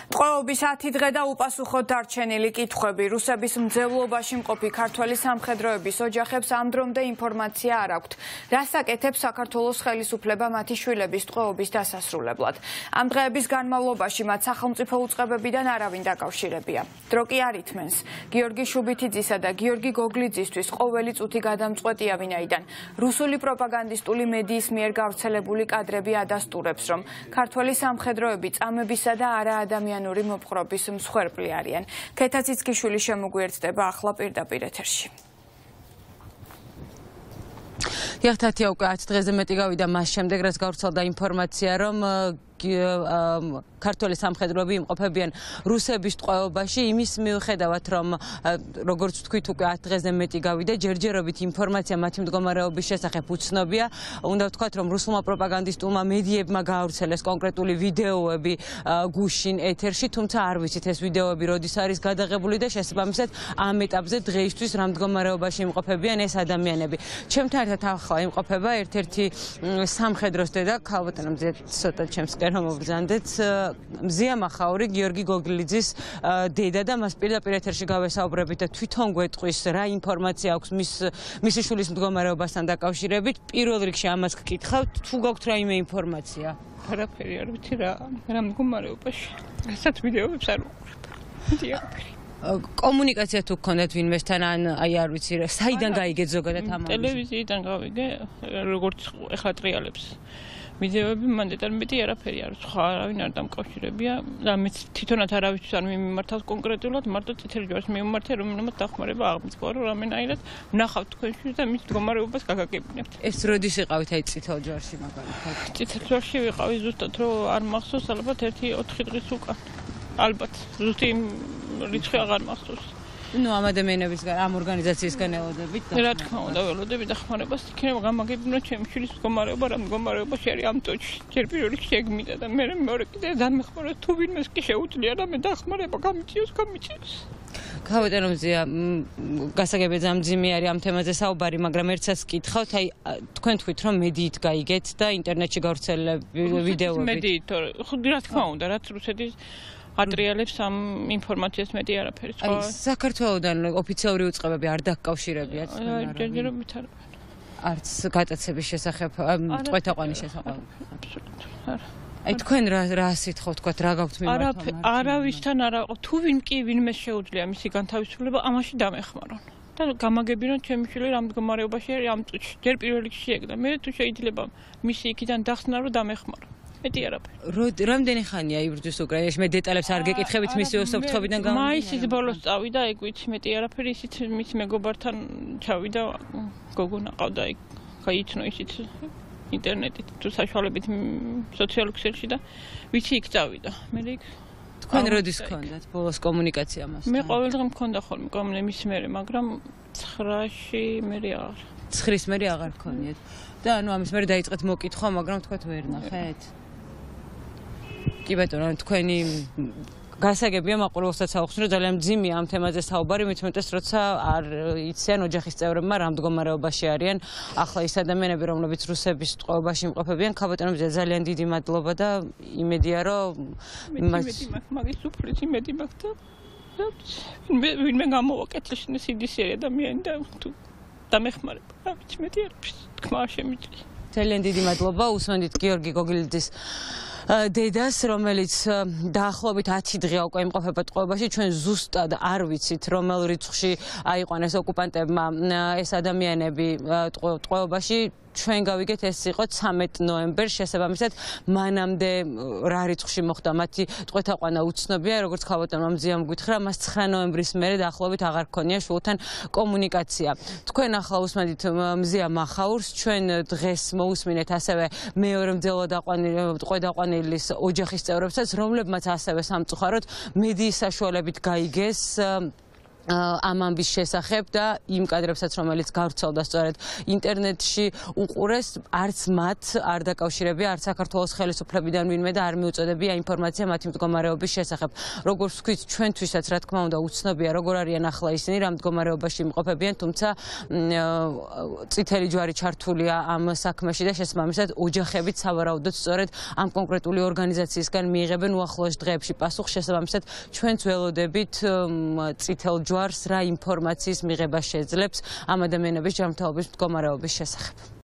ტყვეობის 10 დღე და უპასუხოდ დარჩენილი კითხვები. რუსების მძევლობაში მყოფი ქართველი სამხედროების ოჯახებს ამ დრომდე ინფორმაცია არ აქვთ. რას აკეთებს საქართველოს ხელისუფლება მათი შვილების ტყვეობის დასასრულებლად. ამ დღეების განმავლობაში მათ სახელმწიფო უწყებებიდან არავინ დაკავშირებია. დრო კი არ ითმენს. გიორგი შუბითიძისა და გიორგი გოგლიძისთვის ყოველი წუთი გადამწყვეტია, ვინაიდან რუსული პროპაგანდისტული მედიის მიერ გავრცელებული კადრები ადასტურებს, რომ ქართველი სამხედროები წამებისა და არაადამიანური მოპყრობის მსხვერპლი არიან. ქეთა ციცქიშვილი შემოგვიერთდება ახლა პირდაპირ ეთერში. Ეხთათია უკვე 10 დღეზე მეტი გავიდა მას შემდეგ, რაც გავრცელდა ინფორმაცია, რომ ქართველი სამხედროები იმყოფებიან რუსების ტყვეობაში, იმის მიუხედავად, რომ როგორც ვთქვით, უკვე 10 დღეზე მეტი გავიდა, ჯერჯერობით ინფორმაცია მათი მდგომარეობის შესახებ უცნობია. უნდა ვთქვათ, რომ რუსულმა პროპაგანდისტულმა მედიებმა გაავრცელეს კონკრეტული ვიდეოები გუშინ ეთერში, თუმცა არ ვიცით ეს ვიდეოები როდის არის გადაღებული და შესაბამისად ამ ეტაპზე დღეისთვის რა მდგომარეობაში იმყოფებიან ეს ადამიანები. ჩემთან ერთად ახლა იმყოფება ერთ-ერთი სამხედროს დედა, ქალბატონო მზია, ცოტა ჩემს რომ მობრძანდეთ მზია მახაური გიორგი გოგლიძის დედა და მას პირდაპირ ეთერში გავესაუბრებით და თვითონ გვეტყვის რა ინფორმაცია აქვს მისი შვილის მდგომარეობასთან დაკავშირებით. პირველ რიგში ამას გკითხავთ, თუ გაქვთ რაიმე ინფორმაცია? არაფერი არ ვიცი რა მდგომარეობაში. რასაც ვიდეოებს არ ვუყურებ. კომუნიკაცია თუ გქონდათ ვინმესთან ან აი არ ვიცი რა, საიდან გაიგეთ ზოგადად ამ ტელევიზიიდან გავიგე, როგორც ეხლა ტრიალებს. ვიდეოები მან დეტალებით არაფერი არ სხვა არავინ არ დამკავშირებია და მეც თვითონაც არავისთვის არ მიმართავს კონკრეტულად, მარტო წითელი ჯვარს მიმართე, რომელმაც დახმარება აღმოჩნდა, რომ რამენაირად ვნახავთ თქვენში და მის მდგომარეობას გაგაგებინებთ. ეს როდის იყავით აი წითელ ჯვარში მაგალითად? წითელ ჯვარში ვიყავი ზუსტად, რომ არ მახსოვს, ალბათ 1-4 დღის უკან. ალბათ ზუსტი რიცხვი აღარ მახსოვს. ნუ ამ ადამიანებისგან, ამ ორგანიზაციისგან ელოდებით და რა თქმა უნდა ველოდები დახმარებას, იქნება გამაგებინა ჩემი შვილის მდგომარეობა, რა მდგომარეობაში არის ამ წუთში. ჯერ პირველ რიგში ეგმიდა და მე მეორე კიდე დამეხმარა, თუ ვინმეს კი შეუძლია რამე დახმარება გამიჭიოს. ქალბატონო მზია, გასაგებია ძამძიმი არის ამ თემაზე საუბარი, მაგრამ ერთსაც გკითხავთ, აი თქვენ თქვით, რომ მედიით გაიგეთ და ინტერნეტში გავრცელებული ვიდეოები. მედიით, რა თქმა უნდა, რაც რუსეთის ატრიალებს ამ ინფორმაციას მეტი არაფერი. აი საქართველოსდან ოფიციალური უწყებები არ დაკავშირებიათ? ჯერჯერობით არ. არც გატაცების შესახებ, ტყვეთაყვანის შესახებ. აბსოლუტურად არა. აი თქვენ რა სითხავთ, თქვათ რა გაქვთ მიმართვა? არავისთან არა, თუ ვინმე შეუძლია მისი განთავისუფლება, ამაში დამეხმარონ. და გამაგებინოთ ჩემი შვილი რა მდგომარეობაში არის ამ წუთში. ჯერ პირველ რიგში ეგ და მე თუ შეიძლება მისი იქიდან დახსნა რომ დამეხმარო. მეტი არაფერი. რამდენი ხანია იბრძვის უკრაინაში? მე დეტალებს არ გეკითხებით მისი უსაფრთხოებიდან გამომდინარე. მაისის ბოლოს წავიდა, ეგ ვიცი მეტი არაფერი, ისიც მის მეგობართან ჩავიდა, გოგონა ყავდა იქ, გაიცნო ისიც ინტერნეტით თუ საშუალებით სოციალურ ქსელში და ვიცი იქ წავიდა. მე იქ თქვენ როდის გქონდათ ბოლოს კომუნიკაცია მასთან? მე ყოველ დღე მქონდა ხოლმე კომუნიკაცია მის მერე, მაგრამ 9-ში მერე აღარ. 9-ის მერე აღარ გქონიათ. და ანუ ამის მერე დაიწყეთ მოკითხვა, მაგრამ თქვენ ვერ ნახეთ? კი ბატონო, თქვენი გასაგებია მაყურებელსაც აუხსნი, რომ ძალიან მძიმეა ამ თემაზე საუბარი, მით უმეტეს როცა არ იციან ოჯახის წევრებმა რა მდგომარეობაში არიან ახლა ის ადამიანები, რომლებიც რუსების ტყვეობაში იმყოფებიან. ქალბატონო მზია, ძალიან დიდი მადლობა და იმედია, რომ მაგის უფრით იმედი მაქვს და ვინმე გამოვაკეთეს სიდისიერი ადამიანი და თუ დამეხმარება. რა ვიცი, მეტი არის თქმა შემიძლია. ძალიან დიდი მადლობა. უსმენთ გიორგი გოგლიძის დედას, რომელიც დაახლოებით 10 დღეა უკვე იმყოფება ტყვეობაში. ჩვენ ზუსტად არ ვიცით, რომელ რიცხვში აიყვანეს ოკუპანტებმა ეს ადამიანები ტყვეობაში. ჩვენ გავიგეთ, ეს იყო 13 ნოემბერს, შესაბამისად მანამდე რა რიცხვში მოხდა მათი ტყვეთაყვანა უცნობია, როგორც ქალბატონმა მზიამ გითხრა, მას 9 ნოემბრის მერე დაახლოებით აღარ ჰქონია შვილთან კომუნიკაცია. თქვენ ახლა უსმენთ მზია მახაურს, ჩვენ დღეს მოусმინეთ ასევე მეორე ტყვედაყვანილის ოჯახის წევრებსაც, რომლებმაც ასევე სამწუხაროდ მედიის საშუალებით გაიგეს ამ ამბის შესახებ და იმ კადრებსაც, რომელიც გავრცელდა სწორედ ინტერნეტში უყურეს, არც მათ არ დაკავშირებია, არც საქართველოს ხელისუფლებიდან ვინმე და არ მიუწოდებია ინფორმაცია მათი მდგომარეობის შესახებ. Როგორც ვთქვით, ჩვენთვისაც რა თქმა უნდა უცნობია, როგორ არიან ახლა ისინი, რა მდგომარეობაში იმყოფებიან, თუმცა წითელი ჯვარი ჩართულია ამ საქმეში და შესაბამისად ოჯახებიც სავარაუდოდ სწორედ ამ კონკრეტული ორგანიზაციისგან მიიღებენ უახლოეს დღეებში პასუხს, შესაბამისად ჩვენც ველოდებით წითელ ჯვარს რა ინფორმაციის მიღება შეძლებს ამ ადამიანების ჯანმრთელობის მდგომარეობის შესახებ.